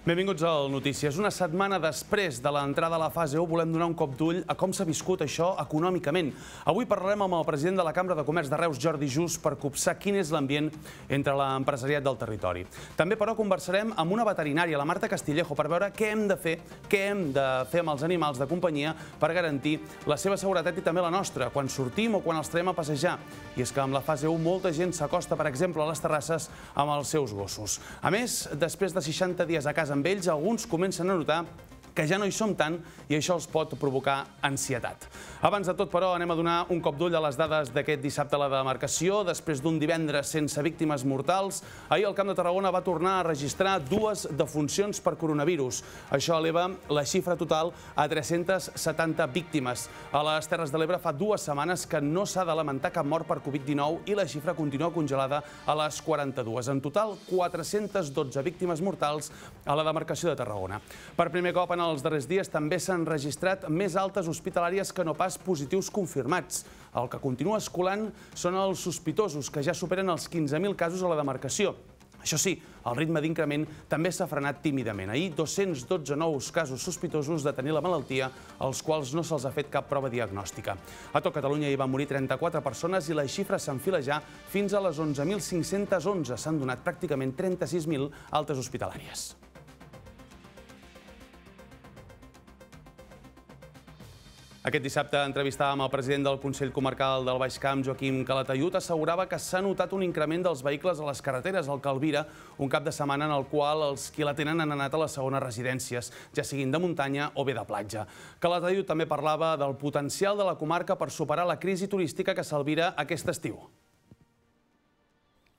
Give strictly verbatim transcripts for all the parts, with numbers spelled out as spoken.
Benvinguts al Notícies. Una setmana després de l'entrada a la fase u volem donar un cop d'ull a com s'ha viscut això econòmicament. Avui parlarem amb el president de la Cambra de Comerç de Reus, Jordi Just, per copsar quin és l'ambient entre l'empresariat del territori. També, però, conversarem amb una veterinària, la Marta Castillejo, per veure què hem de fer, què hem de fer amb els animals de companyia per garantir la seva seguretat i també la nostra, quan sortim o quan els traiem a passejar. I és que amb la fase u molta gent s'acosta, per exemple, a les terrasses amb els seus gossos. A més, després de seixanta dies a casa amb ells, alguns comencen a notar que ja no hi som tant i això els pot provocar ansietat. Abans de tot, però, anem a donar un cop d'ull a les dades d'aquest dissabte a la demarcació. Després d'un divendres sense víctimes mortals, ahir el Camp de Tarragona va tornar a registrar dues defuncions per coronavirus. Això eleva la xifra total a tres-centes setanta víctimes. A les Terres de l'Ebre fa dues setmanes que no s'ha de lamentar cap mort per Covid dinou i la xifra continua congelada a les quaranta-dues. En total, quatre-centes dotze víctimes mortals a la demarcació de Tarragona. Per primer cop en els darrers dies també s'han registrat més altes hospitalàries que no pas positius confirmats. El que continua escolant són els sospitosos, que ja superen els quinze mil casos a la demarcació. Això sí, el ritme d'increment també s'ha frenat tímidament. Ahir, dos-cents dotze nous casos sospitosos de tenir la malaltia, als quals no se'ls ha fet cap prova diagnòstica. A tot Catalunya hi van morir trenta-quatre persones i la xifra s'enfila ja fins a les onze mil cinc-centes onze. S'han donat pràcticament trenta-sis mil altes hospitalàries. Aquest dissabte entrevistàvem el president del Consell Comarcal del Baix Camp, Joaquim Calatayud. Assegurava que s'ha notat un increment dels vehicles a les carreteres al Calvira, un cap de setmana en el qual els qui la tenen han anat a les segones residències, ja siguin de muntanya o bé de platja. Calatayud també parlava del potencial de la comarca per superar la crisi turística que s'albira aquest estiu.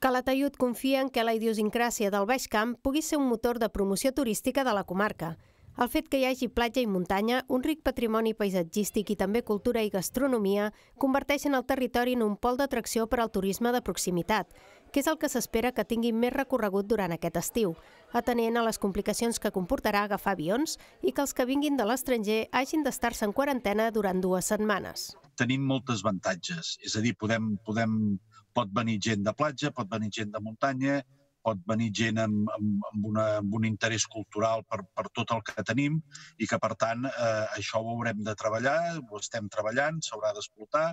Calatayud confia en que la idiosincràsia del Baix Camp pugui ser un motor de promoció turística de la comarca. El fet que hi hagi platja i muntanya, un ric patrimoni paisatgístic i també cultura i gastronomia converteixen el territori en un pol d'atracció per al turisme de proximitat, que és el que s'espera que tingui més recorregut durant aquest estiu, atenent a les complicacions que comportarà agafar avions i que els que vinguin de l'estranger hagin d'estar-se en quarantena durant dues setmanes. Tenim moltes avantatges, és a dir, podem, podem, pot venir gent de platja, pot venir gent de muntanya, pot venir gent amb, amb, amb, una, amb un interès cultural per, per tot el que tenim i que, per tant, eh, això ho haurem de treballar, ho estem treballant, s'haurà d'explotar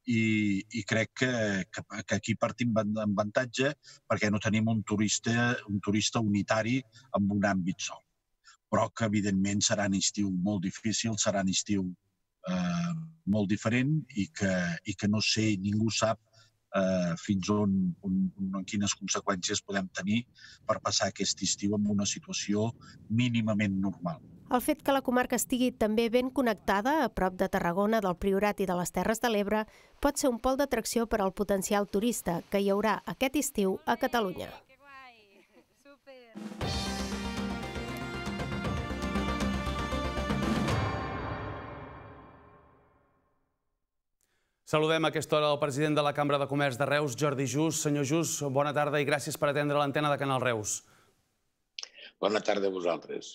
i, i crec que, que, que aquí partim amb avantatge perquè no tenim un turista, un turista unitari amb un àmbit sol. Però que, evidentment, serà un estiu molt difícil, serà un estiu eh, molt diferent i que, i que no sé, ningú sap Uh, fins on, on, on, quines conseqüències podem tenir per passar aquest estiu en una situació mínimament normal. El fet que la comarca estigui també ben connectada a prop de Tarragona, del Priorat i de les Terres de l'Ebre pot ser un pol d'atracció per al potencial turista que hi haurà aquest estiu a Catalunya. Saludem a aquesta hora el president de la Cambra de Comerç de Reus, Jordi Just. Senyor Just, bona tarda i gràcies per atendre l'antena de Canal Reus. Bona tarda a vosaltres.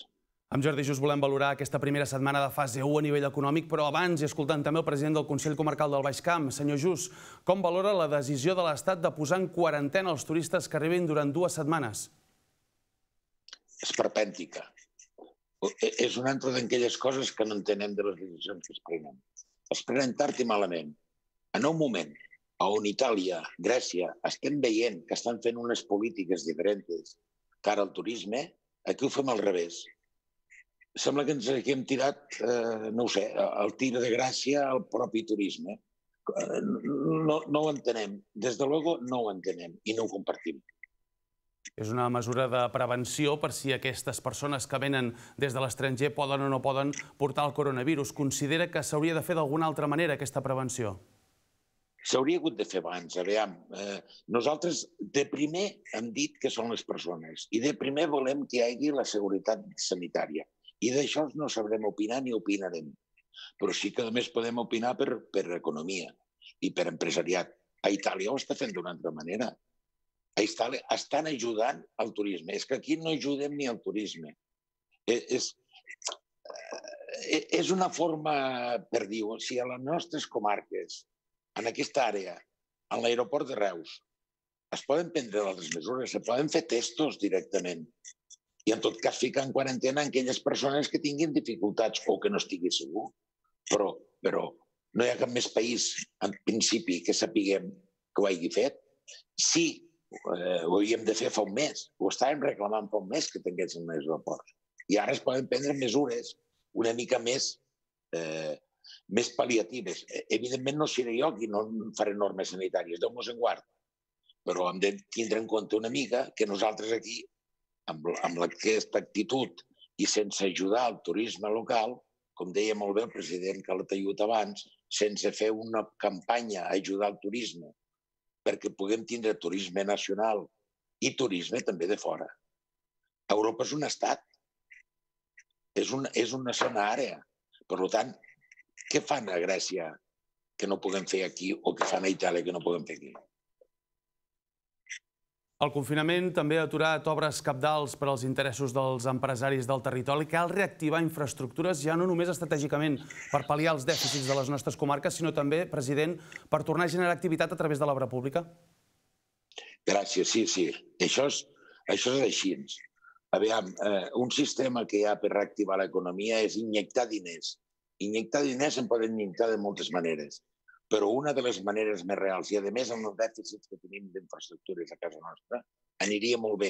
Amb Jordi Just volem valorar aquesta primera setmana de fase u a nivell econòmic, però abans, i escoltant també el president del Consell Comarcal del Baix Camp, senyor Just, com valora la decisió de l'Estat de posar en quarantena els turistes que arribin durant dues setmanes? És perpèntica. És una altra d'aquelles coses que no entenem de les decisions que es prenen. Es prenen tard i malament. En un moment on Itàlia, Grècia, estem veient que estan fent unes polítiques diferents cara al turisme, aquí ho fem al revés. Sembla que ens hem tirat, eh, no ho sé, el tir de gràcia al propi turisme. No, no ho entenem. Des de luego no ho entenem i no ho compartim. És una mesura de prevenció per si aquestes persones que venen des de l'estranger poden o no poden portar el coronavirus. Considera que s'hauria de fer d'alguna altra manera aquesta prevenció? S'hauria hagut de fer abans. Aviam, eh, nosaltres de primer hem dit que són les persones i de primer volem que hi hagi la seguretat sanitària. I d'això no sabrem opinar ni opinarem. Però sí que a més podem opinar per, per economia i per empresariat. A Itàlia ho està fent d'una altra manera. A Itàlia estan ajudant al turisme. És que aquí no ajudem ni al turisme. És, és una forma per dir, si a les nostres comarques, en aquesta àrea, en l'aeroport de Reus, es poden prendre altres mesures, se poden fer testos directament. i en tot cas ficar en quarantena aquelles persones que tinguin dificultats o que no estigui segur. Però, però no hi ha cap més país, en principi, que sapiguem que ho hagi fet. Sí, eh, ho havíem de fer fa un mes, ho estàvem reclamant fa un mes que tinguéssim més aeroports. I ara es poden prendre mesures una mica més, eh, més pal·liatives. Evidentment no seré jo qui no faré normes sanitàries, Déu-nos en guard, però hem de tindre en compte una mica que nosaltres aquí, amb, amb aquesta actitud i sense ajudar el turisme local, com deia molt bé el president Calatayud abans, sense fer una campanya a ajudar el turisme perquè puguem tindre turisme nacional i turisme també de fora. Europa és un estat, és una, és una zona àrea. Per tant, què fan a Grècia que no puguem fer aquí o què fan a Itàlia que no puguem fer aquí? El confinament també ha aturat obres cabdals per als interessos dels empresaris del territori. Cal reactivar infraestructures ja no només estratègicament per pal·liar els dèficits de les nostres comarques, sinó també, president, per tornar a generar activitat a través de l'obra pública? Gràcies, sí, sí. Això és, això és així. Aviam, eh, un sistema que hi ha per reactivar l'economia és injectar diners. Injectar diners se'n poden injectar de moltes maneres. Però una de les maneres més reals, i a més amb els dèficits que tenim d'infraestructures a casa nostra, aniria molt bé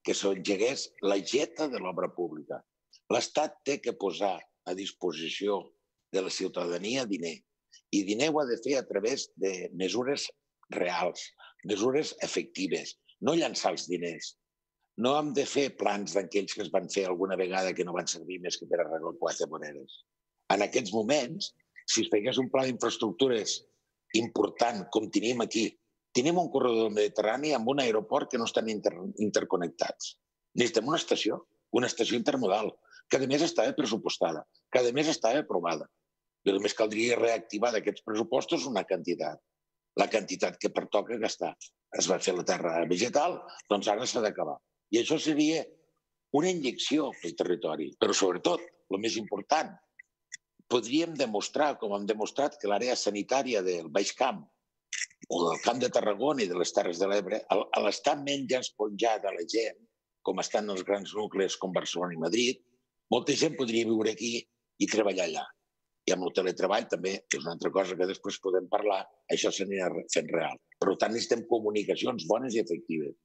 que s'engegués la geta de l'obra pública. L'Estat té que posar a disposició de la ciutadania diner. I diner ho ha de fer a través de mesures reals, mesures efectives, no llançar els diners. No hem de fer plans d'aquells que es van fer alguna vegada que no van servir més que per arreglar quatre voreres. En aquests moments, si es fegués un pla d'infraestructures important, com tenim aquí, tenim un corredor del Mediterrani amb un aeroport que no estan inter interconnectats. Necessitem una estació, una estació intermodal, que a més estava pressupostada, que a més estava aprovada. I només caldria reactivar d'aquests pressupostos una quantitat, la quantitat que pertoca gastar. Es va fer la terra vegetal, doncs ara s'ha d'acabar. I això seria una injecció pel territori, però sobretot, el més important, podríem demostrar, com hem demostrat, que l'àrea sanitària del Baix Camp o del Camp de Tarragona i de les Terres de l'Ebre, a l'estar menys esponjada la gent, com estan els grans nuclis com Barcelona i Madrid, molta gent podria viure aquí i treballar allà. I amb el teletreball també és una altra cosa que després podem parlar, això s'anirà fent real. Per tant, necessitem comunicacions bones i efectives.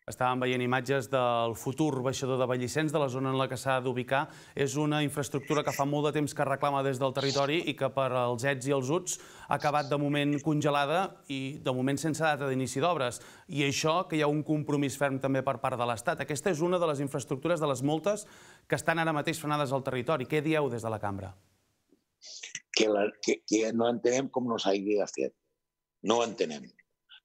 Estàvem veient imatges del futur baixador de Vallicens, de la zona en la que s'ha d'ubicar. És una infraestructura que fa molt de temps que reclama des del territori i que per als ets i els uts ha acabat de moment congelada i de moment sense data d'inici d'obres. I això que hi ha un compromís ferm també per part de l'Estat. Aquesta és una de les infraestructures de les moltes que estan ara mateix frenades al territori. Què dieu des de la cambra? Que, la, que, que no entenem com no s'hagi fet. No entenem.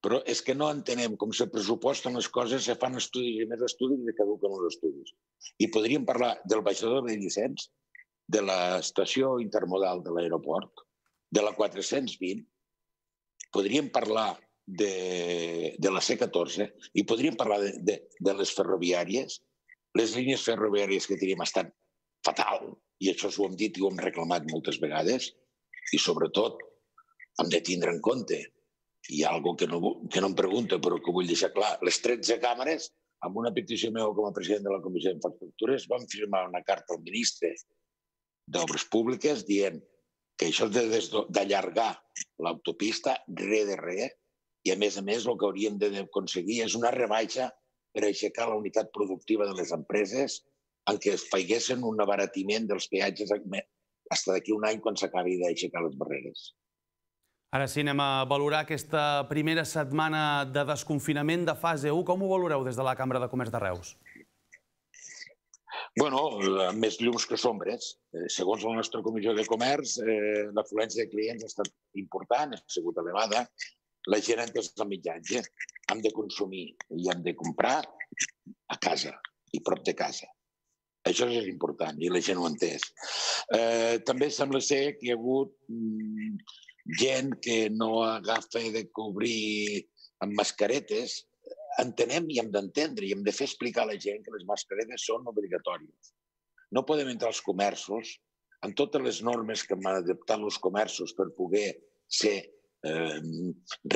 Però és que no entenem com se pressuposten les coses, se fan estudis i més estudis i caduquen els estudis. I podríem parlar del baixador de Vallicens, de l'estació intermodal de l'aeroport, de la quatre-cents vint, podríem parlar de, de la C catorze i podríem parlar de, de, de les ferroviàries. Les línies ferroviàries que tenim estan fatal, i això ho hem dit i ho hem reclamat moltes vegades, i sobretot hem de tindre en compte. Hi ha alguna cosa que no, que no em pregunta, però que vull deixar clar. Les tretze càmeres, amb una petició meva com a president de la Comissió d'Infraestructures, van firmar una carta al ministre d'Obres Públiques dient que això és d'allargar l'autopista re de re, i a més a més el que hauríem d'aconseguir és una rebaixa per aixecar la unitat productiva de les empreses en què es feiguessin un abaratiment dels peatges fins d'aquí un any quan s'acabi d'aixecar les barreres. Ara sí, anem a valorar aquesta primera setmana de desconfinament de fase u. Com ho valoreu des de la Cambra de Comerç de Reus? Bueno, més llums que sombres. Segons la nostra Comissió de Comerç, l'afluència de clients ha estat important, ha sigut elevada. La gent ha entès el mitjatge. Hem de consumir i hem de comprar a casa i prop de casa. Això és important i la gent ho ha entès. També sembla ser que hi ha hagut gent que no agafa de cobrir amb mascaretes. Entenem i hem d'entendre i hem de fer explicar a la gent que les mascaretes són obligatòries. No podem entrar als comerços amb totes les normes que han adaptat els comerços per poder ser eh,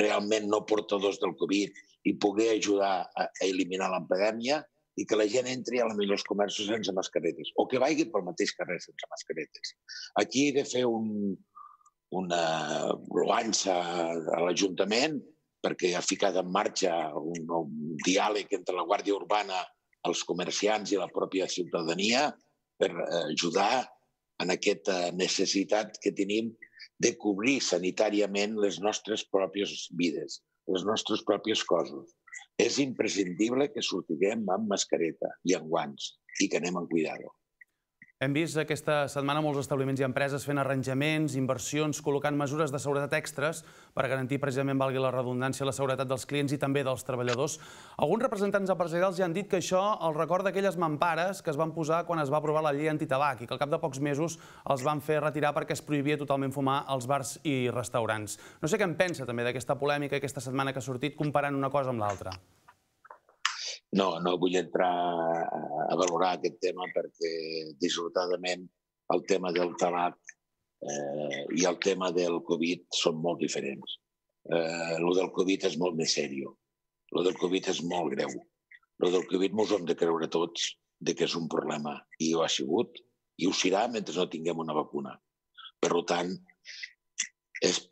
realment no portadors del Covid i poder ajudar a eliminar l'epidèmia i que la gent entri a la millor als comerços sense mascaretes, o que vagi pel mateix carrer sense mascaretes. Aquí he de fer un, una lloança a l'Ajuntament perquè ha ficat en marxa un, un diàleg entre la Guàrdia Urbana, els comerciants i la pròpia ciutadania per ajudar en aquesta necessitat que tenim de cobrir sanitàriament les nostres pròpies vides, les nostres pròpies coses. És imprescindible que sortiguem amb mascareta i amb guants i que anem amb cuidado. Hem vist aquesta setmana molts establiments i empreses fent arranjaments, inversions, col·locant mesures de seguretat extres per garantir precisament, valgui la redundància, la seguretat dels clients i també dels treballadors. Alguns representants empresarials ja han dit que això els recorda aquelles mampares que es van posar quan es va aprovar la llei antitabac i que al cap de pocs mesos els van fer retirar perquè es prohibia totalment fumar als bars i restaurants. No sé què en pensa també d'aquesta polèmica aquesta setmana que ha sortit comparant una cosa amb l'altra. No, no vull entrar a valorar aquest tema perquè, dissortadament, el tema del tabac eh, i el tema del Covid són molt diferents. Eh, lo del Covid és molt més seriós. Lo del Covid és molt greu. Lo del Covid ens ho hem de creure tots de que és un problema. I ho ha sigut i ho serà mentre no tinguem una vacuna. Per tant, és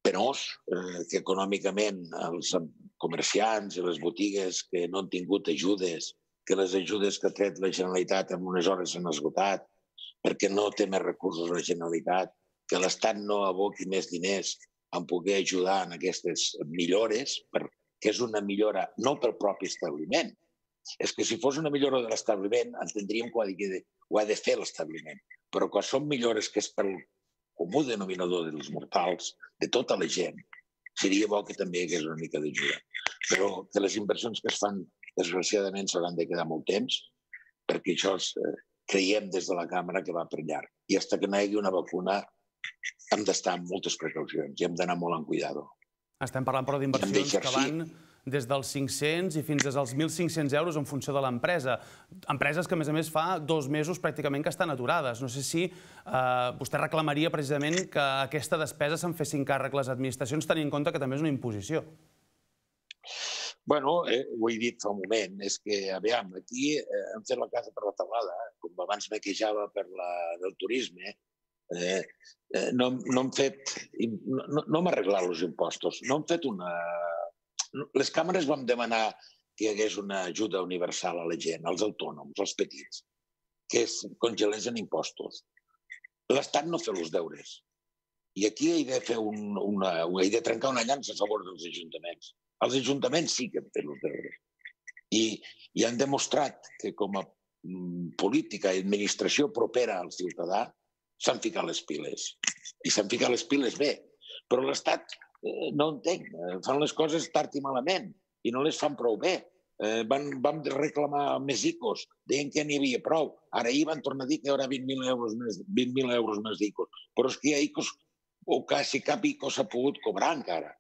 penós eh, que econòmicament els comerciants i les botigues que no han tingut ajudes, que les ajudes que ha tret la Generalitat en unes hores s'han esgotat, perquè no té més recursos la Generalitat, que l'Estat no aboqui més diners en poder ajudar en aquestes millores, perquè és una millora no pel propi establiment. És que si fos una millora de l'establiment, entendríem que ho ha de fer l'establiment. Però quan són millores que és pel comú denominador dels mortals, de tota la gent, seria bo que també hi hagués una mica d'ajuda. Però que les inversions que es fan, desgraciadament, s'hauran de quedar molt temps, perquè això creiem des de la càmera que va per llarg. I fins que no hi hagi una vacuna hem d'estar amb moltes precaucions i hem d'anar molt en cuidado. Estem parlant, però, d'inversions que van des dels cinc-cents i fins als mil cinc-cents euros en funció de l'empresa. Empreses que, a més a més, fa dos mesos pràcticament que estan aturades. No sé si vostè reclamaria precisament que aquesta despesa se'n fessin càrrec les administracions, tenint en compte que també és una imposició. Bueno, ho he dit fa un moment, és que, aviam, aquí hem fet la casa per la taulada, com abans me queixava per del turisme, no hem fet, no hem arreglat els impostos, no hem fet una... Les càmeres vam demanar que hi hagués una ajuda universal a la gent, als autònoms, als petits, que es congelessin impostos. L'Estat no fa els deures. I aquí he de fer una... he de trencar una llança a favor dels ajuntaments. Els ajuntaments sí que han fet els deures. I han demostrat que com a política i administració propera al ciutadà s'han ficat les piles. I s'han ficat les piles bé. Però l'Estat no entenc. Fan les coses tard i malament i no les fan prou bé. Vam reclamar més ICOs, deien que n'hi havia prou. Ara ahir van tornar a dir que hi haurà vint mil euros més d'ICOs. Però és que hi ha ICOs, o quasi cap ICO s'ha pogut cobrar encara.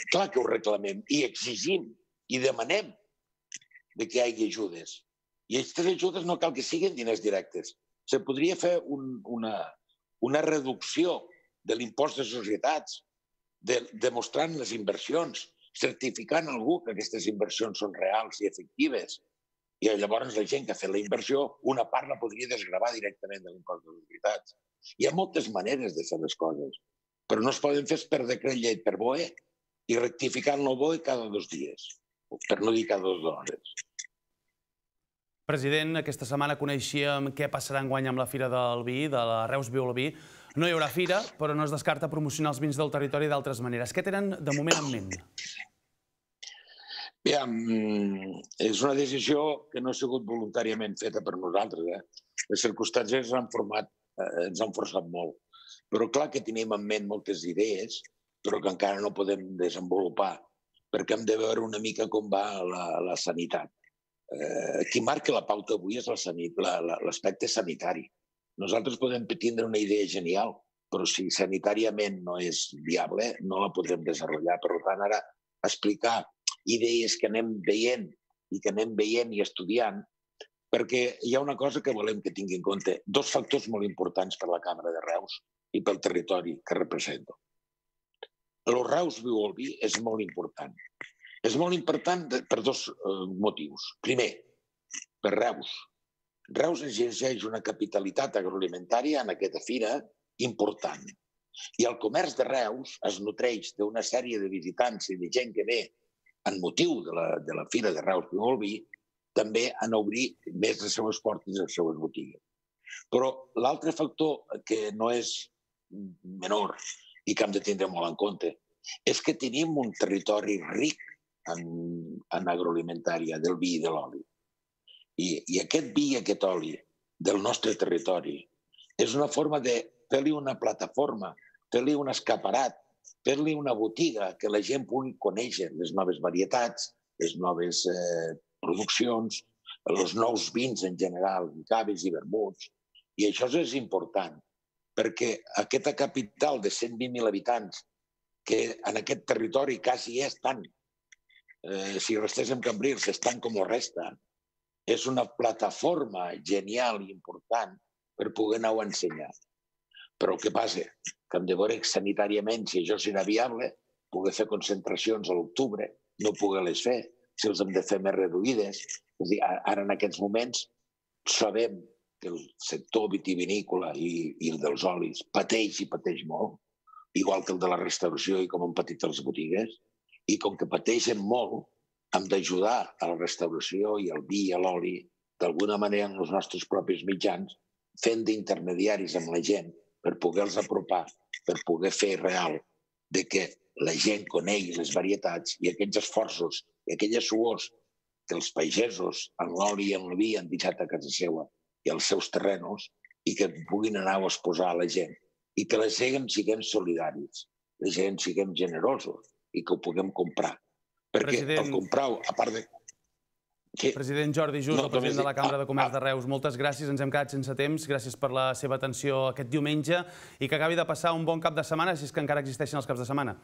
Clar que ho reclamem i exigim i demanem que hi hagi ajudes. I aquestes ajudes no cal que siguin diners directes. Se podria fer una reducció de l'impost de societats, demostrant les inversions, certificant algú que aquestes inversions són reals i efectives. I llavors la gent que ha fet la inversió, una part la podria desgravar directament de l'impost de societats. Hi ha moltes maneres de fer les coses, però no es poden fer per decret llei, per B O E, i rectificant el B O E cada dos dies, per no dir cada dues hores. President, aquesta setmana coneixíem què passarà enguany amb la Fira del Vi, de la Reus Viu el Vi. No hi haurà fira, però no es descarta promocionar els vins del territori d'altres maneres. Què tenen de moment en ment? Bé, és una decisió que no ha sigut voluntàriament feta per nosaltres. Les circumstàncies ens han forçat molt. Però clar que tenim en ment moltes idees, però que encara no podem desenvolupar, perquè hem de veure una mica com va la sanitat. Qui marca la pauta avui és l'aspecte sanitari. Nosaltres podem tindre una idea genial, però si sanitàriament no és viable, no la podrem desenvolupar. Per tant, ara explicar idees que anem veient i que anem veient i estudiant, perquè hi ha una cosa que volem que tingui en compte, dos factors molt importants per la Càmera de Reus i pel territori que represento. El Reus Viu el Vi és molt important, És molt important per dos motius. Primer, per Reus. Reus exerceix una capitalitat agroalimentària en aquesta fira important. I el comerç de Reus es nutreix d'una sèrie de visitants i de gent que ve en motiu de la, de la fira de Reus i Bolví, també han obrir més les seves portes i les seves botigues. Però l'altre factor que no és menor i que hem de tindre molt en compte és que tenim un territori ric en, en agroalimentària, del vi i de l'oli. I, I aquest vi i aquest oli del nostre territori és una forma de fer-li una plataforma, fer-li un escaparat, fer-li una botiga que la gent pugui conèixer les noves varietats, les noves eh, produccions, els nous vins en general, caves i vermuts. I això és important, perquè aquesta capital de cent vint mil habitants, que en aquest territori quasi és tant, eh, si restés en Cambrils, és tant com ho resta, és una plataforma genial i important per poder anar-ho a ensenyar. Però què passa? Que hem de veure sanitàriament si això serà viable, poder fer concentracions a l'octubre, no poder-les fer, si els hem de fer més reduïdes. És a dir, ara en aquests moments sabem que el sector vitivinícola i, i el dels olis pateix i pateix molt, igual que el de la restauració i com han patit les botigues, i com que pateixen molt, hem d'ajudar a la restauració i al vi i a l'oli, d'alguna manera en els nostres propis mitjans, fent d'intermediaris amb la gent per poder-los apropar, per poder fer real de que la gent conegui les varietats i aquells esforços i aquelles suors que els pagesos en l'oli i en el vi han deixat a casa seva i als seus terrenos i que puguin anar a exposar a la gent i que la gent siguem solidaris, la gent siguem generosos i que ho puguem comprar. Perquè President... el comprar-ho, a part de... Sí. President Jordi Just, no, el president només... de la Cambra de Comerç ah, de Reus, moltes gràcies, ens hem quedat sense temps, gràcies per la seva atenció aquest diumenge i que acabi de passar un bon cap de setmana, si és que encara existeixen els caps de setmana.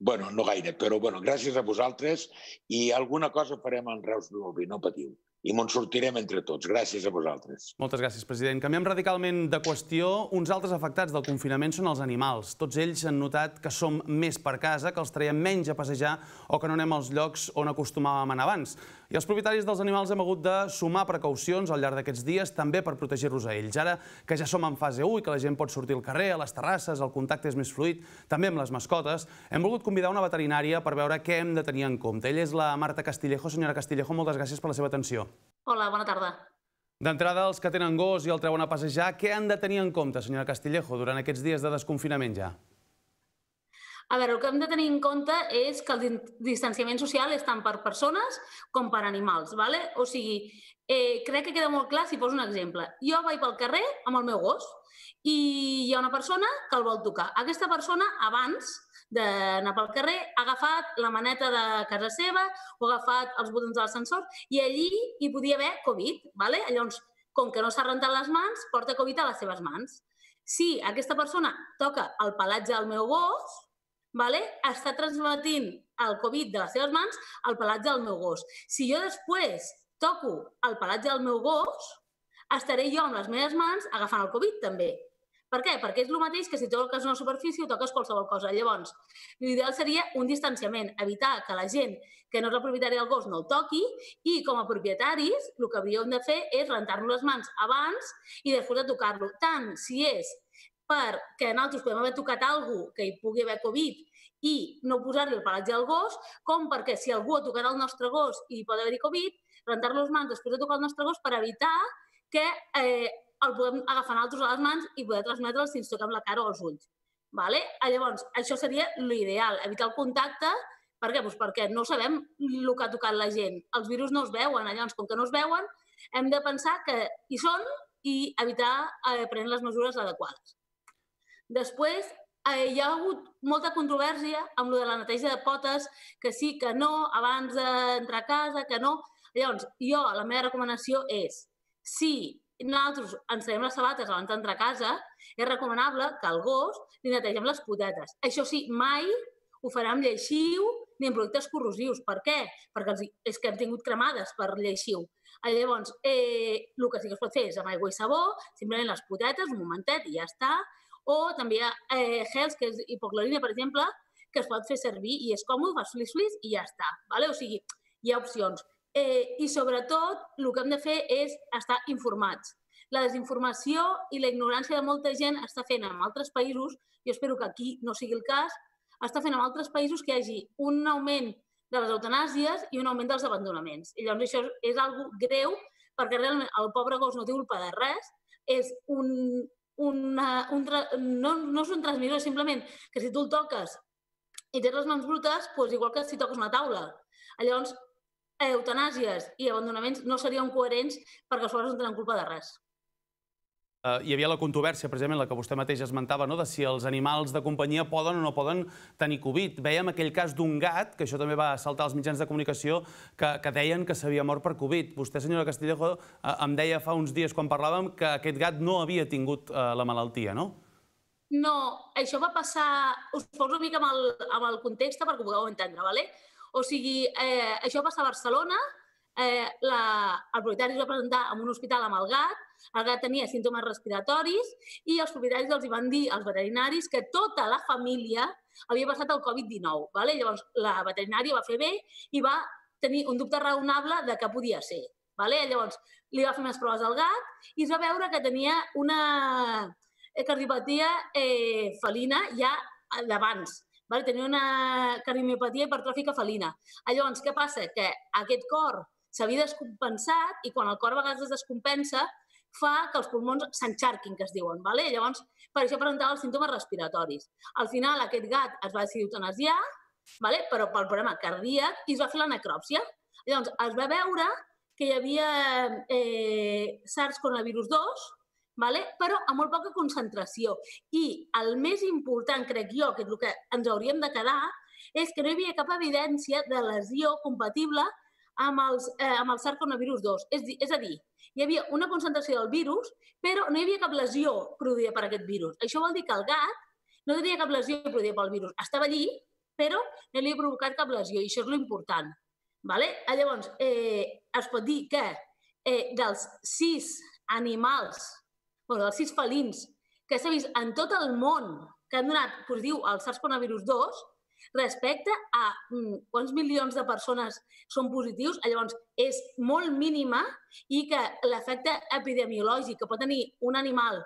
Bueno, no gaire, però bueno, gràcies a vosaltres i alguna cosa farem en Reus i Bolví, no patiu. I me'n sortirem entre tots. Gràcies a vosaltres. Moltes gràcies, president. Canviem radicalment de qüestió. Uns altres afectats del confinament són els animals. Tots ells han notat que som més per casa, que els traiem menys a passejar o que no anem als llocs on acostumàvem a anar abans. I els propietaris dels animals hem hagut de sumar precaucions al llarg d'aquests dies també per protegir-los a ells. Ara que ja som en fase u i que la gent pot sortir al carrer, a les terrasses, el contacte és més fluid, també amb les mascotes, hem volgut convidar una veterinària per veure què hem de tenir en compte. Ella és la Marta Castillejo. Senyora Castillejo, moltes gràcies per la seva atenció. Hola, bona tarda. D'entrada, els que tenen gos i el treuen a passejar, què han de tenir en compte, senyora Castillejo, durant aquests dies de desconfinament ja? A veure, el que hem de tenir en compte és que el distanciament social és tant per persones com per animals, ¿vale? O sigui, eh, crec que queda molt clar si poso un exemple. Jo vaig pel carrer amb el meu gos i hi ha una persona que el vol tocar. Aquesta persona, abans d'anar pel carrer, ha agafat la maneta de casa seva o ha agafat els botons de l'ascensor i allí hi podia haver Covid, ¿vale? Llavors, com que no s'ha rentat les mans, porta Covid a les seves mans. Si aquesta persona toca el pelatge del meu gos, ¿vale? Està transmetint el Covid de les seves mans al pelatge del meu gos. Si jo després toco el pelatge del meu gos, estaré jo amb les meves mans agafant el Covid també. Per què? Perquè és el mateix que si toques una superfície o toques qualsevol cosa. Llavors, l'ideal seria un distanciament, evitar que la gent que no és la propietària del gos no el toqui i com a propietaris el que hauríem de fer és rentar-nos les mans abans i després de tocar-lo. Tant si és perquè nosaltres podem haver tocat alguna cosa que hi pugui haver Covid i no posar-li el pelatge al gos, com perquè si algú ha tocat el nostre gos i hi pot haver-hi Covid, rentar-lo les mans després de tocar el nostre gos per evitar que eh, el podem agafar nosaltres a les mans i poder transmetre'l si ens toquem la cara o els ulls. Vale? Llavors, això seria l'ideal, evitar el contacte. Per què? Pues perquè no sabem el que ha tocat la gent. Els virus no es veuen, llavors, com que no es veuen, hem de pensar que hi són i evitar eh, prendre les mesures adequades. Després, eh, hi ha hagut molta controvèrsia amb lo de la neteja de potes, que sí, que no, abans d'entrar a casa, que no. Llavors, jo, la meva recomanació és, si nosaltres ens traiem les sabates abans d'entrar a casa, és recomanable que al gos li netegem les potetes. Això sí, mai ho farà amb lleixiu ni amb productes corrosius. Per què? Perquè és que hem tingut cremades per lleixiu. Llavors, eh, el que sí que es pot fer és amb aigua i sabó, simplement les potetes, un momentet i ja està. O també hi ha eh, gels, que és hipoclorina, per exemple, que es pot fer servir i és còmode, fas flis-flis i ja està. O sigui, hi ha opcions. I sobretot, el que hem de fer és estar informats. La desinformació i la ignorància de molta gent està fent en altres països, jo espero que aquí no sigui el cas, està fent en altres països que hi hagi un augment de les eutanàsies i un augment dels abandonaments. I llavors això és algo greu perquè realment el pobre gos no té culpa de res, és un... no és un transmissor, simplement que si tu el toques i tens les mans brutes, igual que si toques una taula. Llavors, eutanàsies i abandonaments no serien coherents perquè els pobres no tenen culpa de res. Hi havia la controvèrsia, precisament, la que vostè mateix esmentava, de si els animals de companyia poden o no poden tenir Covid. Vèiem aquell cas d'un gat, que això també va saltar als mitjans de comunicació, que deien que s'havia mort per Covid. Vostè, senyora Castillejo, em deia fa uns dies quan parlàvem que aquest gat no havia tingut la malaltia, no? No, això va passar... Us poso una mica amb el context perquè ho pugueu entendre, d'acord? O sigui, això va passar a Barcelona, el propietari es va presentar en un hospital amb el gat, el gat tenia símptomes respiratoris i els propietaris els van dir als veterinaris que tota la família havia passat el Covid dinou. Llavors, la veterinària va fer bé i va tenir un dubte raonable de què podia ser. Llavors, li va fer més proves al gat i es va veure que tenia una cardiopatia felina ja d'abans. Tenia una cardiomiopatia hipertròfica felina. Llavors, què passa? Que aquest cor s'havia descompensat i quan el cor a vegades es descompensa fa que els pulmons s'enxarquin, que es diuen. Llavors, per això presentava els símptomes respiratoris. Al final, aquest gat es va decidir eutanasiar, però pel problema cardíac, i es va fer la necròpsia. Llavors, es va veure que hi havia SARS coronavirus dos, però a molt poca concentració. I el més important, crec jo, que és el que ens hauríem de quedar, és que no hi havia cap evidència de lesió compatible amb el SARS coronavirus dos. És a dir, hi havia una concentració del virus, però no hi havia cap lesió produïda per aquest virus. Això vol dir que el gat no tenia cap lesió produïda pel virus. Estava allí, però no li havia provocat cap lesió, i això és l'important. Llavors, es pot dir que dels sis animals, dels sis felins que s'ha vist en tot el món que han donat positiu al SARS coronavirus dos, respecte a quants milions de persones són positius, llavors és molt mínima i que l'efecte epidemiològic que pot tenir un animal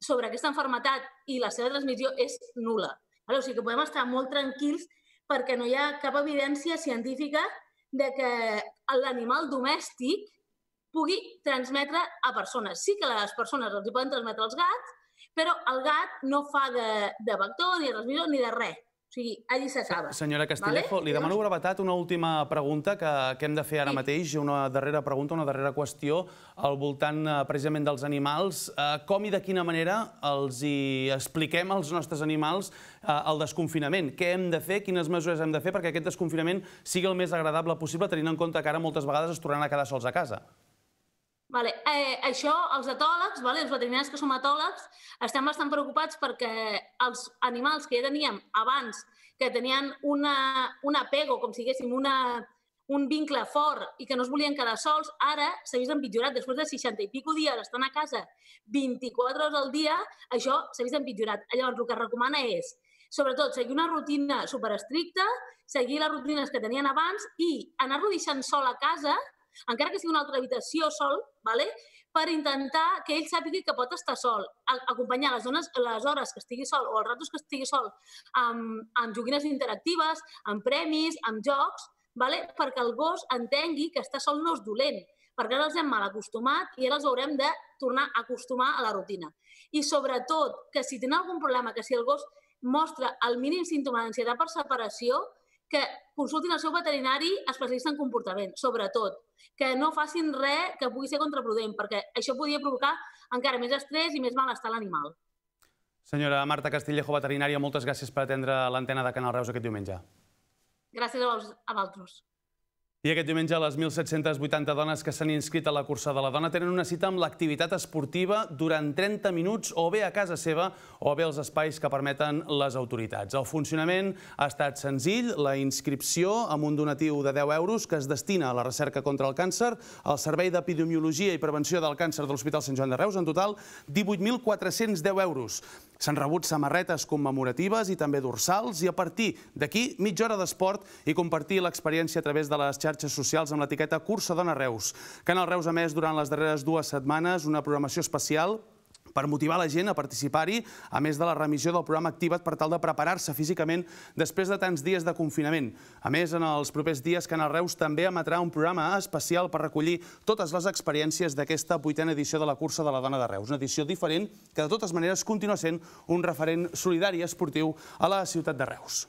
sobre aquesta malaltia i la seva transmissió és nul·la. O sigui que podem estar molt tranquils perquè no hi ha cap evidència científica que l'animal domèstic pugui transmetre a persones. Sí que les persones els poden transmetre als gats, però el gat no fa de vector, ni de transmissor, ni de res. O sigui, allí s'acaba. Senyora Castillejo, li demano brevetat una última pregunta que hem de fer ara mateix, una darrera pregunta, una darrera qüestió al voltant precisament dels animals. Com i de quina manera els expliquem als nostres animals el desconfinament? Què hem de fer? Quines mesures hem de fer perquè aquest desconfinament sigui el més agradable possible, tenint en compte que ara moltes vegades es tornaran a quedar sols a casa? Això, els etòlegs, els veterinaris que som etòlegs, estem bastant preocupats perquè els animals que ja teníem abans, que tenien un apego, com si diguéssim, un vincle fort i que no es volien quedar sols, ara s'ha vist empitjorat. Després de seixanta i pico dies estan a casa vint-i-quatre hores al dia, això s'ha vist empitjorat. Llavors, el que es recomana és, sobretot, seguir una rutina superestricta, seguir les rutines que tenien abans i anar-lo deixant sol a casa, encara que sigui una altra habitació sol, per intentar que ell sàpiga que pot estar sol, acompanyar les hores que estigui sol o els ratos que estigui sol amb joguines interactives, amb premis, amb jocs, perquè el gos entengui que estar sol no és dolent, perquè ara els hem mal acostumat i ara els haurem de tornar a acostumar a la rutina. I sobretot, que si tenen algun problema, que si el gos mostra el mínim símptoma d'ansietat per separació, que consultin el seu veterinari especialista en comportament, sobretot. Que no facin res que pugui ser contraproduent, perquè això podria provocar encara més estrès i més malestar a l'animal. Senyora Marta Castillejo, veterinària, moltes gràcies per atendre l'antena de Canal Reus aquest diumenge. Gràcies a vosaltres. I aquest diumenge les mil set-cents vuitanta dones que s'han inscrit a la cursa de la dona tenen una cita amb l'activitat esportiva durant trenta minuts o bé a casa seva o bé als espais que permeten les autoritats. El funcionament ha estat senzill, la inscripció amb un donatiu de deu euros que es destina a la recerca contra el càncer, al Servei d'Epidemiologia i Prevenció del Càncer de l'Hospital Sant Joan de Reus, en total divuit mil quatre-cents deu euros. S'han rebut samarretes commemoratives i també dorsals i a partir d'aquí mitja hora d'esport i compartir l'experiència a través de les xarxes socials amb l'etiqueta Cursa Dona Reus. Canal Reus ha emès durant les darreres dues setmanes una programació especial per motivar la gent a participar-hi, a més de la remissió del programa Activa't per tal de preparar-se físicament després de tants dies de confinament. A més, en els propers dies, Canal Reus també emetrà un programa especial per recollir totes les experiències d'aquesta vuitena edició de la Cursa de la Dona de Reus. Una edició diferent que, de totes maneres, continua sent un referent solidari i esportiu a la ciutat de Reus.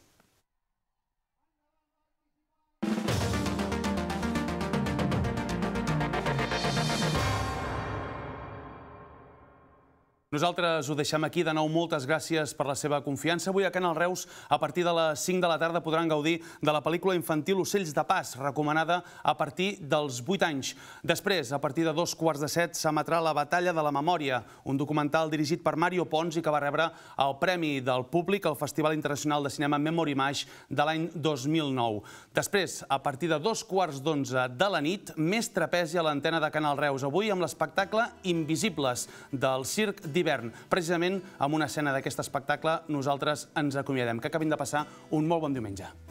Nosaltres ho deixem aquí. De nou, moltes gràcies per la seva confiança. Avui a Canal Reus, a partir de les cinc de la tarda, podran gaudir de la pel·lícula infantil Ocells de Pas, recomanada a partir dels vuit anys. Després, a partir de dos quarts de set, s'emetrà La Batalla de la Memòria, un documental dirigit per Mario Pons i que va rebre el Premi del Públic al Festival Internacional de Cinema Memory Image de l'any dos mil nou. Després, a partir de dos quarts d'onze de la nit, més trapezi a l'antena de Canal Reus. Avui amb l'espectacle Invisibles, del Circ d'Hivern. Precisament amb una escena d'aquest espectacle nosaltres ens acomiadem. Que acabin de passar un molt bon diumenge.